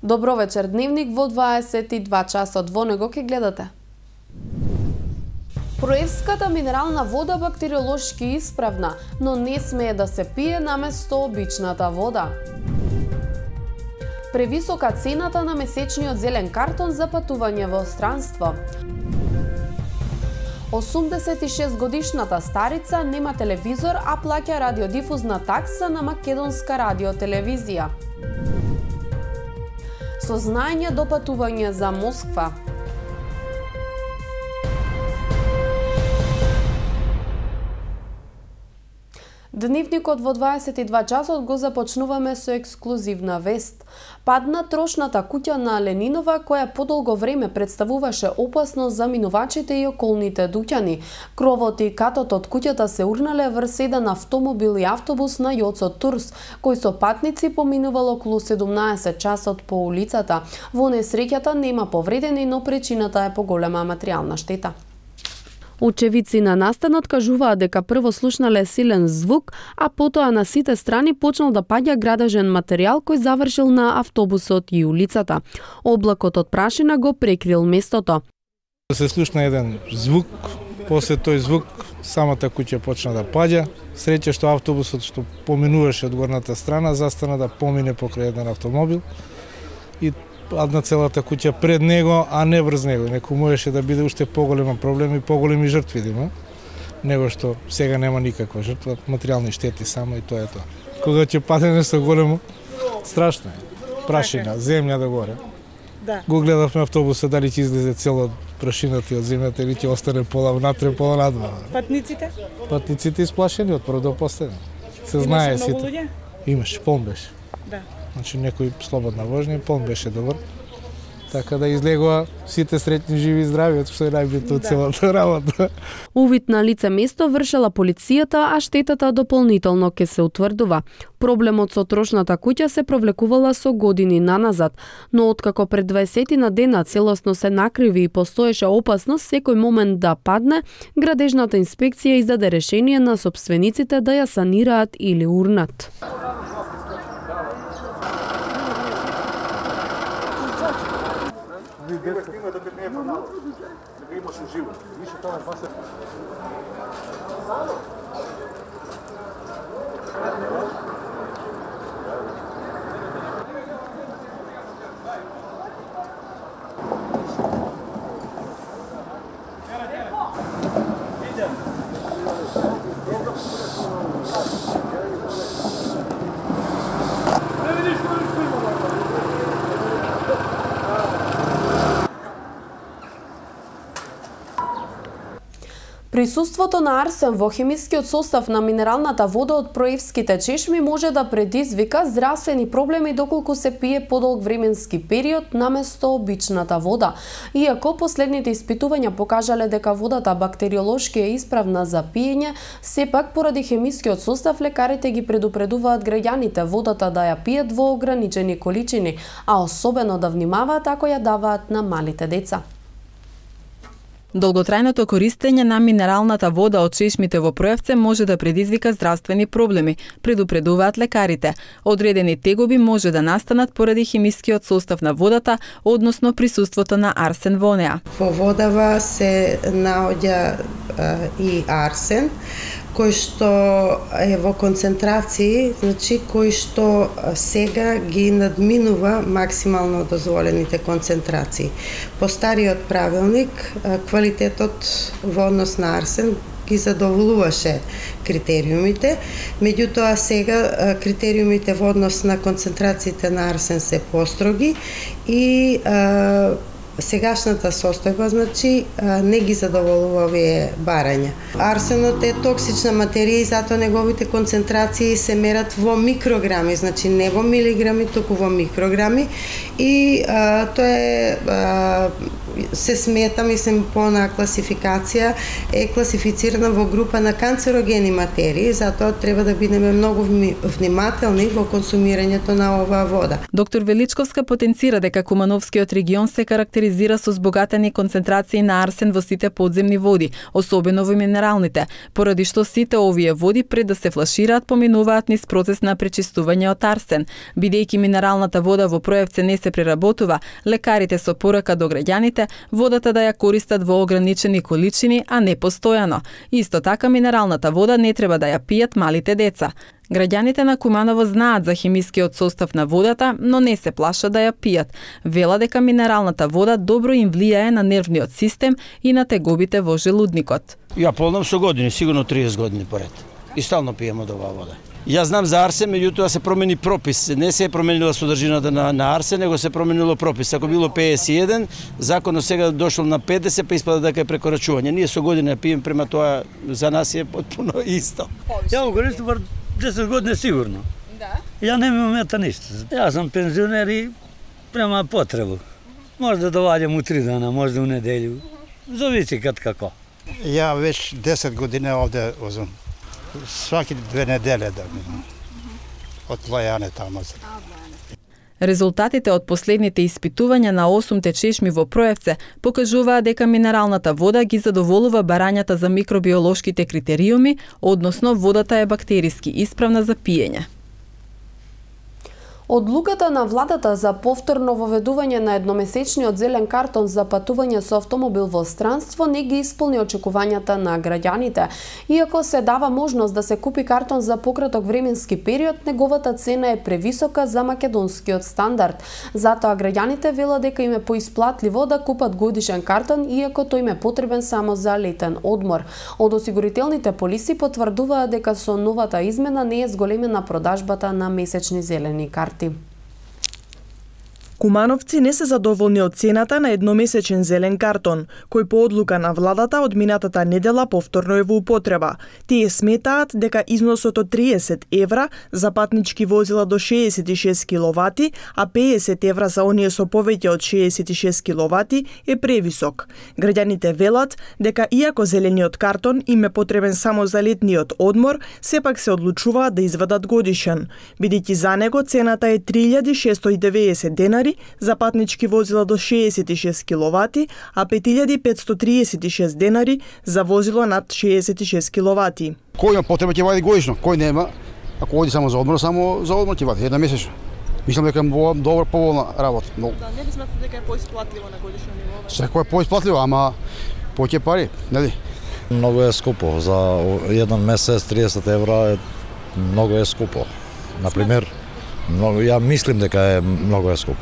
Добро вечер, дневник во 22 часот, во него ќе гледате. Проевската минерална вода бактериолошки исправна, но не смее да се пие наместо обичната вода. Превисока цената на месечниот зелен картон за патување во странство. 86 годишната старица нема телевизор, а плаќа радиодифузна такса на македонска радиотелевизија. Сознање до патување за Москва. Дневникот во 22 часот го започнуваме со ексклузивна вест. Падна трошната куќа на Ленинова, која подолго време представуваше опасност за минувачите и околните дуќани. Кровот и катот од куќата се урнале врз еден автомобил и автобус на Јоцо Турс, кој со патници поминувал околу 17 часот по улицата. Во несреќата нема повредени, но причината е поголема материјална штета. Очевидци на настанот кажуваат дека прво слушнале силен звук, а потоа на сите страни почнал да паѓа градежен материјал кој завршил на автобусот и улицата. Облакот од прашина го прекрил местото. Се слушна еден звук, после тој звук самата куќа почна да паѓа. Среќа што автобусот што поминуваше од горната страна застана да помине покрај еден автомобил и падна целата куќа пред него, а не врз него. Некој можеше да биде уште поголема проблем и поголеми жртви да има, него што сега нема никаква жртва, материјални штети само и тоа е тоа. Кога ќе падне нешто големо, страшно е. Прашина, земја да горе. Да. Го гледавме автобуса дали ќе излезе цело прашината од земјата или ќе остане пола внатре, пола надвор. Патниците? Патниците исплашени од прво до последно. Се знае сите. Имаше, полн беше. Да. Значи некој слободна вожња, полн беше добар. Така да излегува сите среќни, живи и здрави, што е најбитно од целата работа. Увид на лице место вршела полицијата, а штетата дополнително ќе се утврдува. Проблемот со трошната куќа се провлекувала со години наназад, но откако пред 20 на дена целосно се накриви и постоеше опасност секој момент да падне, градежната инспекција издаде решение на сопствениците да ја санираат или урнат. Има докато не е паднало. Дека имаше живо. Више тоа е басе. Присуството на арсен во хемискиот состав на минералната вода од проевските чешми може да предизвика здравствени проблеми доколку се пие подолг временски период наместо обичната вода. Иако последните испитувања покажале дека водата бактериолошки е исправна за пиење, сепак поради хемискиот состав лекарите ги предупредуваат граѓаните водата да ја пиет во ограничени количини, а особено да внимаваат ако ја даваат на малите деца. Долготрајното користење на минералната вода од чешмите во Проевце може да предизвика здравствени проблеми, предупредуваат лекарите. Одредени тегоби може да настанат поради хемискиот состав на водата, односно присуството на арсен во неа. Во водава се наоѓа и арсен, кој што е во концентрации, значи кој што сега ги надминува максимално дозволените концентрации. По стариот правилник, квалитетот во однос на арсен ги задоволуваше критериумите, меѓутоа сега критериумите во однос на концентрациите на арсен се построги и сегашната состојба, значи, не ги задоволува овие барања. Арсенот е токсична материја и затоа неговите концентрации се мерат во микрограми, значи не во милиграми, туку во микрограми и тоа е се смета, мислим, по на класификација е класифицирана во група на канцерогени материи, затоа треба да бидеме многу внимателни во консумирањето на оваа вода. Доктор Величковска потенцира дека Кумановскиот регион се карактеризира со збогатени концентрации на арсен во сите подземни води, особено во минералните, поради што сите овие води пред да се флашираат поминуваат низ процес на пречистување од арсен. Бидејќи минералната вода во Проевце не се преработува, лекарите со порака до граѓаните водата да ја користат во ограничени количини, а не постојано. Исто така минералната вода не треба да ја пијат малите деца. Граѓаните на Куманово знаат за химискиот состав на водата, но не се плашат да ја пијат. Вела дека минералната вода добро им влијае на нервниот систем и на тегобите во желудникот. Ја полнам со години, сигурно 30 години поред. И стално пием од оваа вода. Јас знам за арсен, меѓутоа се промени пропис. Не се е променила содржината на арсен, него се променило пропис. Ако било 51, законот сега дошол на 50, па испада дека е прекорачување. Ние со години пием, према тоа за нас е потпуно исто. Ја го користам 10 години сигурно. Да. Ја не ми мета ништо. Јас сум пензионер и према потребу. Може да доваѓам у 3 дана, може да у неделју. Зависи кад како. Ја веќе 10 години овде возам. Сваки 2 недели да минам. Од Лајане таму. Резултатите од последните испитувања на 8 чешми во Проевце покажуваат дека минералната вода ги задоволува барањата за микробиолошките критериуми, односно водата е бактериски исправна за пиење. Одлуката на владата за повторно воведување на едномесечниот зелен картон за патување со автомобил во странство не ги исполни очекувањата на граѓаните. Иако се дава можност да се купи картон за пократок временски период, неговата цена е превисока за македонскиот стандард. Затоа граѓаните велат дека им е поисплатливо да купат годишен картон, иако тој им е потребен само за летен одмор. Од осигурителните полиси потврдуваат дека со новата измена не е зголемена продажбата на месечни зелени карти. Кумановци не се задоволни од цената на едномесечен зелен картон, кој по одлука на владата од минатата недела повторно е во употреба. Тие сметаат дека износот од 30 евра за патнички возила до 66 киловати, а 50 евра за оние со повеќе од 66 киловати е превисок. Граѓаните велат дека иако зелениот картон им е потребен само за летниот одмор, сепак се одлучуваат да извадат годишен, бидејќи за него цената е 3690 денари за патнички возила до 66 киловати, а 5536 денари за возило над 66 киловати. Кој има потреба ќе вади годишно, кој нема, ако оди само за одмор ќе вади една месечно. Мислам дека е добра поволна работа. Да, не ли смятате дека е поисплатливо на годишно ниво? Секој е поисплатливо, ама повеќе пари, нели? Многу е скупо, за еден месец 30 евра е многу е скупо. Например, ја мислим дека е многу е скупо.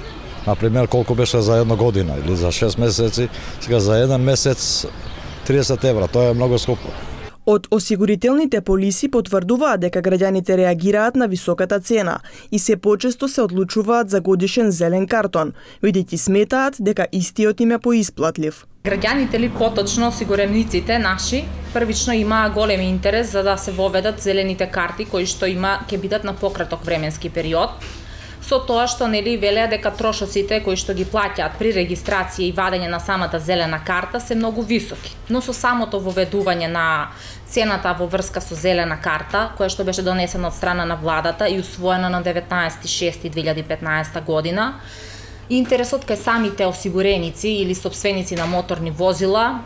Например, колку беше за една година или за 6 месеци, сега за еден месец 30 евра, тоа е многу скупо. Од осигурителните полиси потврдуваат дека граѓаните реагираат на високата цена и се почесто се одлучуваат за годишен зелен картон, бидејќи сметаат дека истиот им е поисплатлив. Граѓаните или поточно осигурениците наши првично имаа голем интерес за да се воведат зелените карти кои што ќе бидат на пократок временски период. Со тоа што нели велеа дека трошоците кои што ги плаќаат при регистрација и вадење на самата зелена карта се многу високи. Но со самото воведување на цената во врска со зелена карта, која што беше донесена од страна на владата и усвоена на 19.6.2015 година, интересот кај самите осигуреници или сопственици на моторни возила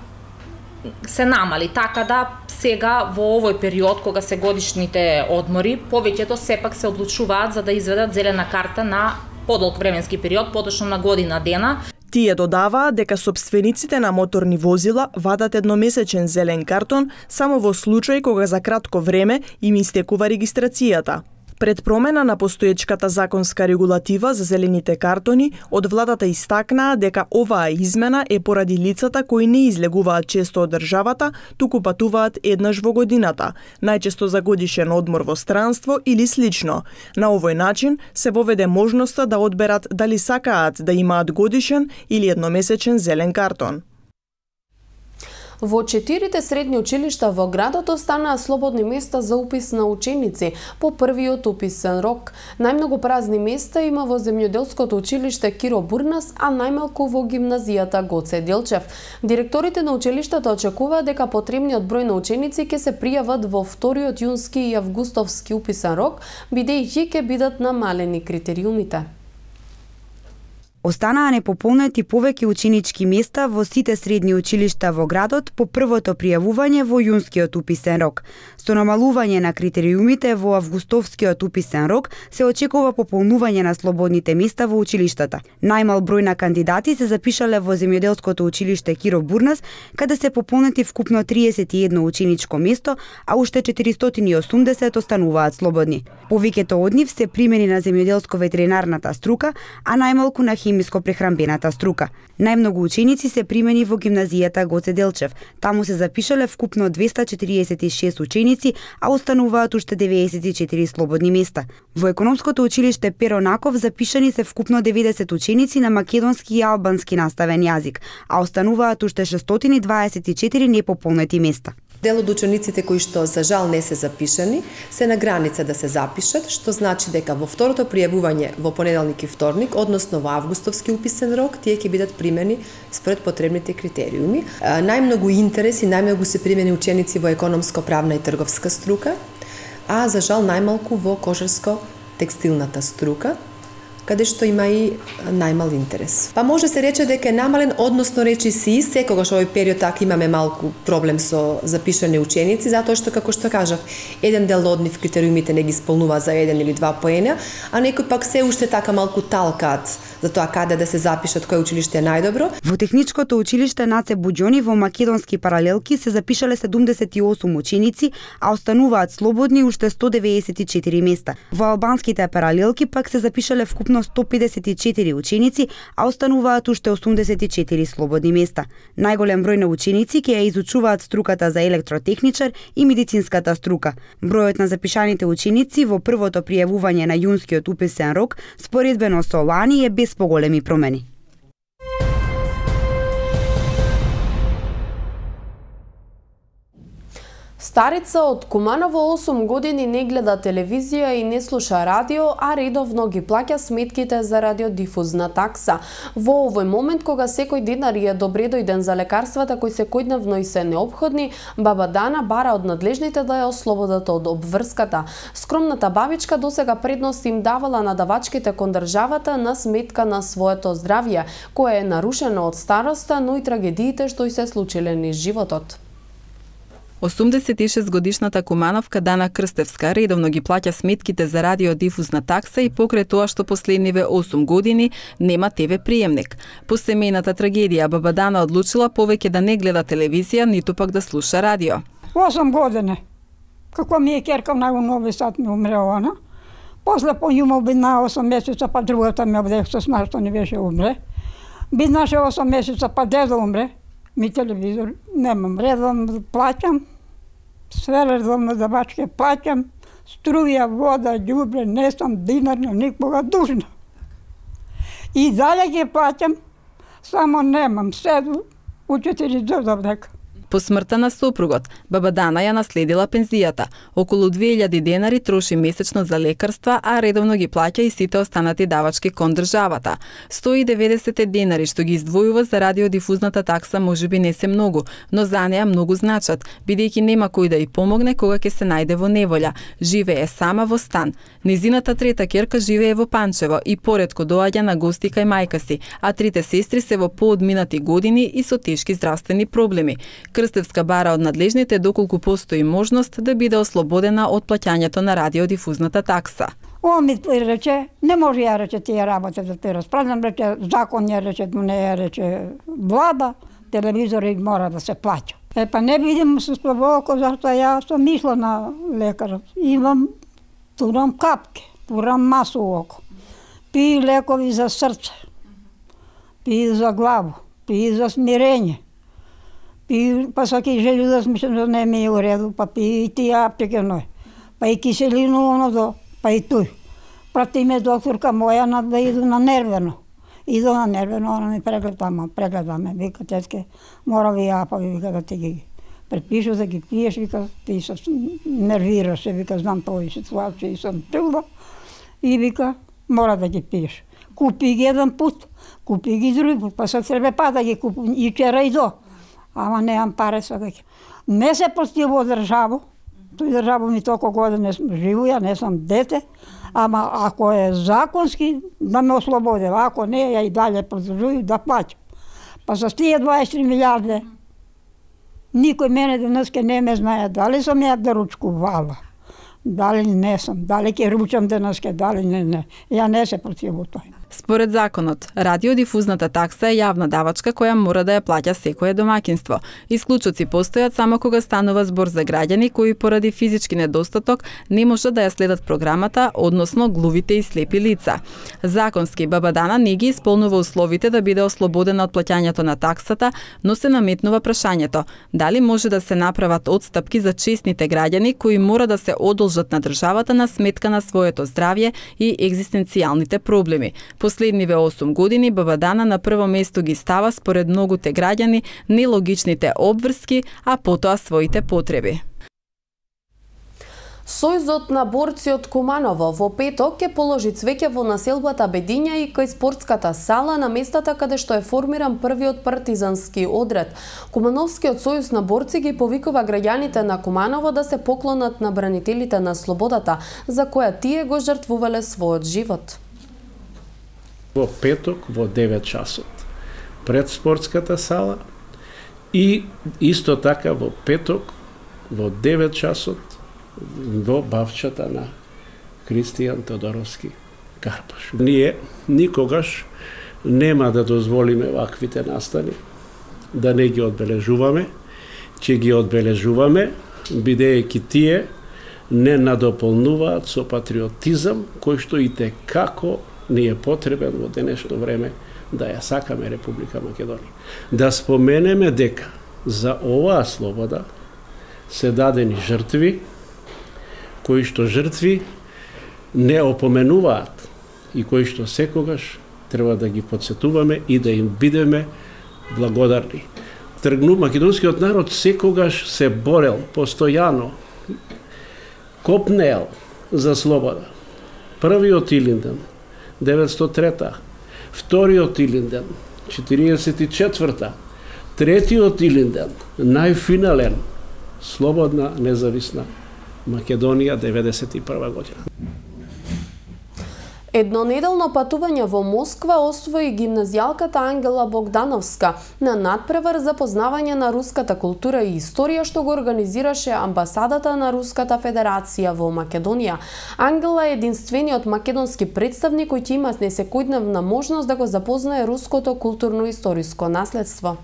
се намали, така да сега во овој период кога се годишните одмори, повеќето сепак се одлучуваат за да изведат зелена карта на подолг временски период, поточно на година дена. Тие додаваат дека сопствениците на моторни возила вадат едномесечен зелен картон само во случај кога за кратко време им истекува регистрацијата. Пред промена на постоечката законска регулатива за зелените картони, од владата истакнаа дека оваа измена е поради лицата кои не излегуваат често од државата, туку патуваат еднаш во годината, најчесто за годишен одмор во странство или слично. На овој начин се воведе можноста да одберат дали сакаат да имаат годишен или едномесечен зелен картон. Во 4 средни училишта во градот останаа слободни места за упис на ученици по првиот уписен рок. Најмногу празни места има во земјоделското училиште Киро Бурнас, а најмалку во гимназијата Гоце Делчев. Директорите на училиштата очекуваат дека потребниот број на ученици ќе се пријават во вториот јунски и августовски уписен рок, бидејќи ќе бидат намалени критериумите. Останаа непополнети повеќе ученички места во сите средни училишта во градот по првото пријавување во јунскиот уписен рок. Со намалување на критериумите во августовскиот уписен рок се очекува пополнување на слободните места во училиштата. Најмал број на кандидати се запишале во земјоделското училиште Киро Бурнас, каде се пополнети вкупно 31 ученичко место, а уште 480 остануваат слободни. Повеќето од нив се примени на земјоделско-ветеринарната струка, а најмалку на хемиско-прехранбената струка. Најмногу ученици се примени во гимназијата Гоце Делчев. Таму се запишале вкупно 246 ученици, а остануваат уште 94 слободни места. Во економското училиште Перо Наков запишани се вкупно 90 ученици на македонски и албански наставен јазик, а остануваат уште 624 непополнети места. Дел од учениците кои што за жал не се запишани се на граница да се запишат, што значи дека во второто пријавување во понеделник и вторник, односно во августовски уписен рок, тие ќе бидат примени според потребните критериуми. Најмногу интерес и најмногу се примени ученици во економско-правна и трговска струка, а за жал најмалку во кожарско-текстилната струка, каде што има и најмал интерес. Па може се рече дека е намален, односно речи си, секогаш овој период така имаме малку проблем со запишани ученици, затоа што, како што кажав, еден дел од нив критериумите не ги исполнува за 1 или 2 поена, а некои пак се уште така малку талкаат за тоа каде да се запишат, кој училиште е најдобро. Во техничкото училиште Наце Буџони во македонски паралелки се запишале 78 ученици, а остануваат слободни уште 194 места. Во албанските паралелки пак се запишале вкупно 154 ученици, а остануваат уште 84 слободни места. Најголем број на ученици ќе ја изучуваат струката за електротехничар и медицинската струка. Бројот на запишаните ученици во првото пријавување на јунскиот уписен рок споредбено со лани е без поголеми промени. Старица од Куманово 8 години не гледа телевизија и не слуша радио, а редовно ги плаќа сметките за радиодифузна такса. Во овој момент, кога секој динар е добре дојден за лекарствата кои секојдневно и се неопходни, баба Дана бара од надлежните да ја ослободат од обврската. Скромната бабичка досега предност им давала на давачките кон државата на сметка на своето здравје, кое е нарушено од староста, но и трагедиите што й се случиле низ животот. 86-годишната кумановка Дана Крстевска редовно ги плаќа сметките за радиодифузна такса и покрај тоа што последниве 8 години нема ТВ приемник. По семејната трагедија баба Дана одлучила повеќе да не гледа телевизија, ниту пак да слуша радио. 8 години. Како ми е керка на Нови Сад ми умре она. После по њума бидна 8 месеца, па другата ми обдех со што не беше умре. Биднаше 8 месеца, па дедо умре. Ми телевизор немам, редовно плаќам. Све редовно давачке плаќам, струја, вода, ѓубре, не сум динар на никога дужна. И дале ги плаќам, само немам, седу у 4 додав дека. По смртта на сопругот, баба Дана ја наследила пензијата. Околу 2000 денари троши месечно за лекарства, а редовно ги плаќа и сите останати давачки кон државата. 190 денари што ги издвојува за радиодифузната такса можеби не се многу, но за неа многу значат, бидејќи нема кој да ја помогне кога ќе се најде во неволја. Живее сама во стан. Незината трета ќерка живее во Панчево и поретко доаѓа на гости кај мајка си, а трите сестри се во поодминати години и со тешки здравствени проблеми. Крстевска бара од надлежните доколку постои можност да биде ослободена од плаќањето на радиодифузната такса. Он ми рече, не може ја рече тие работи да те расправам, рече закон ја рече, не ја рече влада, телевизори мора да се плаќа. Па не видим со слабоко, зашто ја сум мисла на лекарот. Турам капки, турам масу око. Пи лекови за срце, пи за главу, пи за смирење. Па саки желю да смислам да не ми е уреду, па пи и тие аптеке ној. Па и киселину оно до, па и тој. Прати ме докторка моја да иду на нервено. Иду на нервено, она ми прегледаме, вика тетке, мора ви јапави, вика да ти ги предпишу да ги пиеш, вика ти се нервираш, вика знам тој ситуација и сум трудна, и вика мора да ги пиеш. Купи ги еден пут, купи ги други пут, па се треба па да ги купам и вчера и до. Ама неам пари сега. Не се постиво државо, тој државо ми толку години живуја, не сум дете, ама ако е законски, да ме ослободе, ако не, ја и дале продолжувам да плаќам. Па за тие 23 милиарди, никој мене денеска не ме знае дали сум ја да ручкувала, дали не сум, дали ќе ручам денеска, дали не. Ја не се противу тој. Според законот, радиодифузната такса е јавна давачка која мора да ја плаќа секое домаќинство. Исклучоци постојат само кога станува збор за граѓани кои поради физички недостаток не можат да ја следат програмата, односно глувите и слепи лица. Законски Баба Дана не ги исполнува условите да биде ослободена од плаќањето на таксата, но се наметнува прашањето дали може да се направат отстапки за честните граѓани кои мора да се одолжат на државата на сметка на своето здравје и екзистенцијалните проблеми. Последниве 8 години Баба Дана на прво место ги става според многуте граѓани нелогичните обврски, а потоа своите потреби. Сојузот на борци од Куманово во петок ќе положи цвеќе во населбата Бедиња и кај спортската сала на местата каде што е формиран првиот партизански одред. Кумановскиот сојуз на борци ги повикува граѓаните на Куманово да се поклонат на бранителите на слободата, за која тие го жртвувале својот живот. Во петок во 9 часот пред спортската сала и исто така во петок во 9 часот во бавчата на Кристијан Тодоровски Карпаш. Ние никогаш нема да дозволиме ваквите настани, да не ги одбележуваме, ќе ги одбележуваме, бидејќи тие не надополнуваат со патриотизам кој што и како ни е потребен во денешно време да ја сакаме Република Македонија. Да споменеме дека за оваа слобода се дадени жртви, кои што жртви не опоменуваат и кои што секогаш треба да ги подсетуваме и да им бидеме благодарни. Македонскиот народ секогаш се борел, постојано, копнел за слобода. Првиот Илинден 903-та, вториот Илинден 44-та, третиот Илинден најфинален, слободна независна Македонија 91 година. Еднонеделно патување во Москва освои гимназијалката Ангела Богдановска на надпревар за познавање на руската култура и историја што го организираше амбасадата на Руската Федерација во Македонија. Ангела е единствениот македонски представник кој ќе има несекојдневна можност да го запознае руското културно-историско наследство.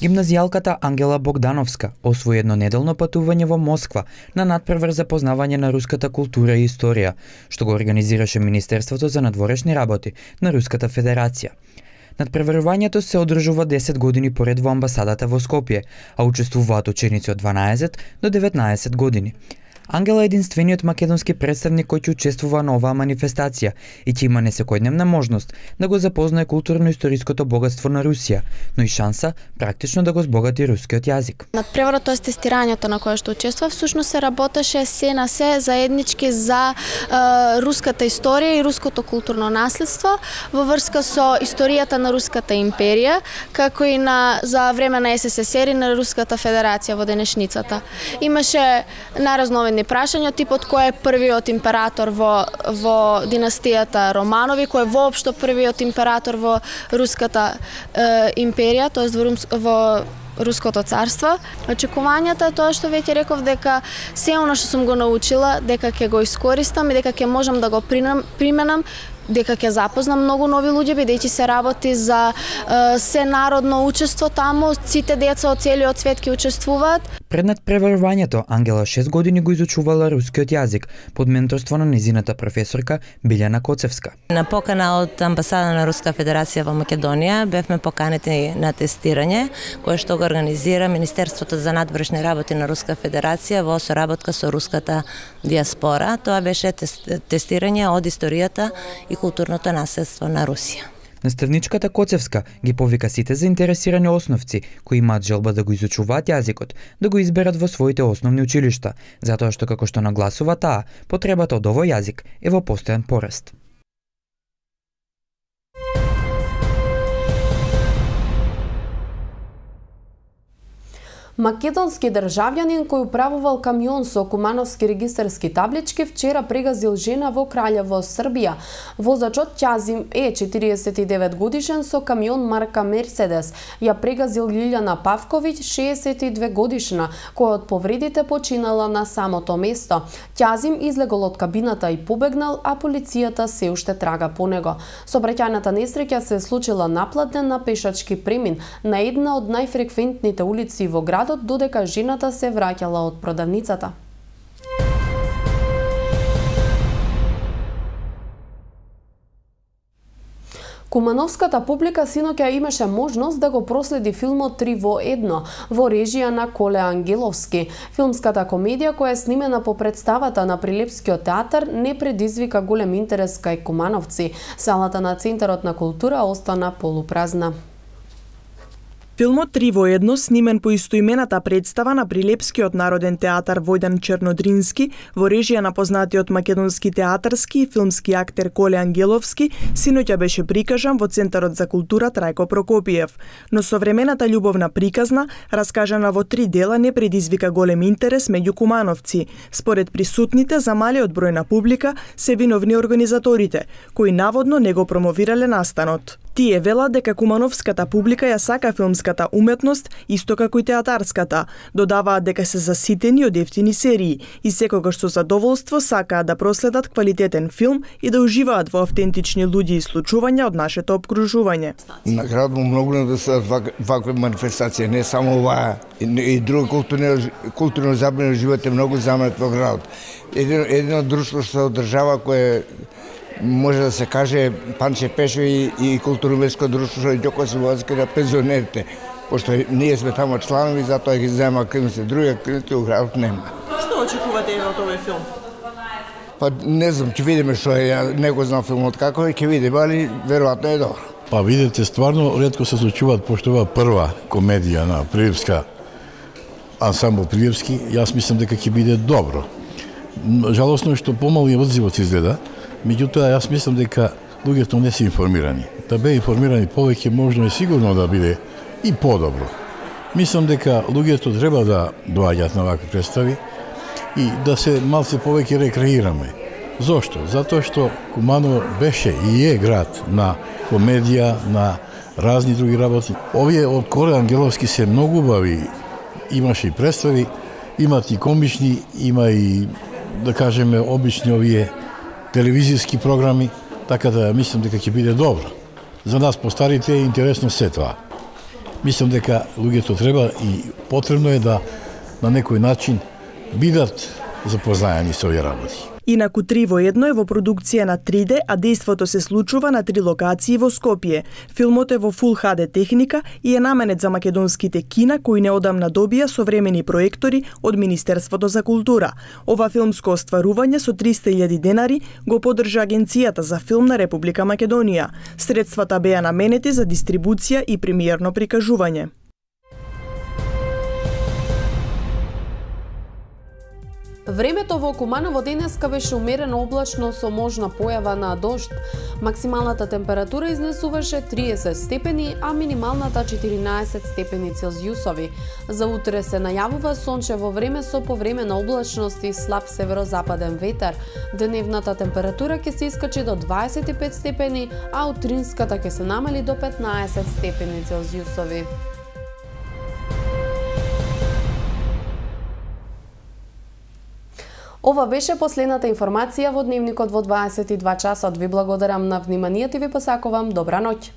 Гимназијалката Ангела Богдановска освои еднонеделно патување во Москва на надпревар за познавање на руската култура и историја, што го организираше Министерството за надворешни работи на Руската Федерација. Надпреварувањето се одржува 10 години поред во амбасадата во Скопје, а учествуваат ученици од 12 до 19 години. Ангела е единствениот македонски представник кој ќе учествува на оваа манифестација и ќе има несекојдневна можност да го запознае културно-историското богатство на Русија, но и шанса практично да го збогати рускиот јазик. Надпреварот, тоест тестирањето на кое што учествува, всушност се работеше се на се заеднички за руската историја и руското културно наследство во врска со историјата на Руската империја, како и за време на СССР и на Руската Федерација во денешницата. Имаше наразновидни прашања, типот кој е првиот император во династијата Романови, кој е воопшто првиот император во Руската империја, тоест во Руското царство. Очекувањата е тоа што веќе реков, дека се оно што сум го научила, дека ќе го искористам и дека ќе можам да го применам, дека ќе запознам многу нови луѓе, бидејќи се работи за сенародно учество таму, сите деца од целиот свет ќе учествуваат. Пред надпреварувањето Ангела 6 години го изучувала рускиот јазик под менторство на незината професорка Билјана Коцевска. На покана од амбасада на Руска Федерација во Македонија бевме поканети на тестирање кое што го организира Министерството за надворешни работи на Руска Федерација во соработка со руската диаспора. Тоа беше тестирање од историјата и културното наследство на Русија. Наставничката Коцевска ги повика сите заинтересирани основци кои имаат желба да го изучуваат јазикот, да го изберат во своите основни училишта, затоа што како што нагласува таа, потребата од овој јазик е во постојан пораст. Македонски државјанин кој управувал камион со кумановски регистарски таблички вчера прегазил жена во Краљево, Србија. Возачот Ќазим е 49 годишен со камион марка Мерседес. Ја прегазил Лилјана Павковиќ, 62 годишна, која од повредите починала на самото место. Ќазим излегол од кабината и побегнал, а полицијата се уште трага по него. Сообраќајната несреќа се случила напладне на пешачки премин на една од најфреквентните улици во градот, додека жената се враќала од продавницата. Кумановската публика синоќа имаше можност да го проследи филмот 3 во 1 во режија на Коле Ангеловски. Филмската комедија која е снимена по представата на Прилепскиот театар не предизвика голем интерес кај кумановци. Салата на Центарот на култура остана полупразна. Филмот 3 во 1, снимен по истоимената представа на Прилепскиот народен театар Војдан Чернодрински во режија на познатиот македонски театарски и филмски актер Коле Ангеловски, синоќа беше прикажан во Центарот за култура Трајко Прокопиев. Но современата љубовна приказна, раскажана во 3 дела, не предизвика голем интерес меѓу кумановци. Според присутните, за малиот број на публика се виновни организаторите, кои наводно не го промовирале настанот. Тие велат дека кумановската публика ја сака филмската уметност исто како и театарската. Додаваат дека се заситени од ефтини серии и секогаш со задоволство сакаат да проследат квалитетен филм и да уживаат во автентични луѓе и случувања од нашето обкружување. На град му многу да се вакви манифестации, не само оваа, и други културно забавни живот е многу замрет во градот. Едно друштво што се одржава кое може да се каже Панче Пешови и културно-ветско друштво Ѓоко Сивоцки на пензионерите, пошто ние сме тамо чланови, затоа ги зема активности, други активности у градот нема. Што очекувате од овој филм? Па не знам, ќе видиме што е, ја не го знам филмот како е, ќе видиме, али веројатно е добро. Па видите, стварно ретко се случуваат, пошто ова прва комедија на Прилепска ансамбл Прилепски, јас мислам дека ќе биде добро. Жалосно е што помали одзивот изгледа. Меѓутоа, јас мислам дека луѓето не се информирани. Да бе информирани повеќе, можно е сигурно да биде и подобро. Мислам дека луѓето треба да доаѓаат на вакви представи и да се малце повеќе рекреираме. Зошто? Затоа што Куманово беше и е град на комедија, на разни други работи. Овие од Коле Ангеловски се многу убави. Имаше и представи, имат и комични, има и, да кажеме, обични овие телевизиски програми, така да мислам дека ќе биде добро. За нас постарите е интересно се тоа. Мислам дека луѓето треба и потребно е да на некој начин бидат запознаени со овие работи. Инаку 3 во 1 е во продукција на 3D, а дејството се случува на 3 локации во Скопје. Филмот е во Full HD техника и е наменет за македонските кина кои неодамна добија современи проектори од Министерството за култура. Ова филмско остварување со 300.000 денари го поддржа Агенцијата за филм на Република Македонија. Средствата беа наменети за дистрибуција и премиерно прикажување. Времето во Куманово денеска беше умерено облачно со можна појава на дожд. Максималната температура изнесуваше 30 степени, а минималната 14 степени Целзиусови. За утре се најавува сончево време со повремена облачност и слаб северозападен ветер. Деневната температура ќе се искачи до 25 степени, а утринската ќе се намали до 15 степени Целзиусови. Ова беше последната информација во Дневникот во 22 часот. Ви благодарам на вниманието и ви посакувам добра ноќ.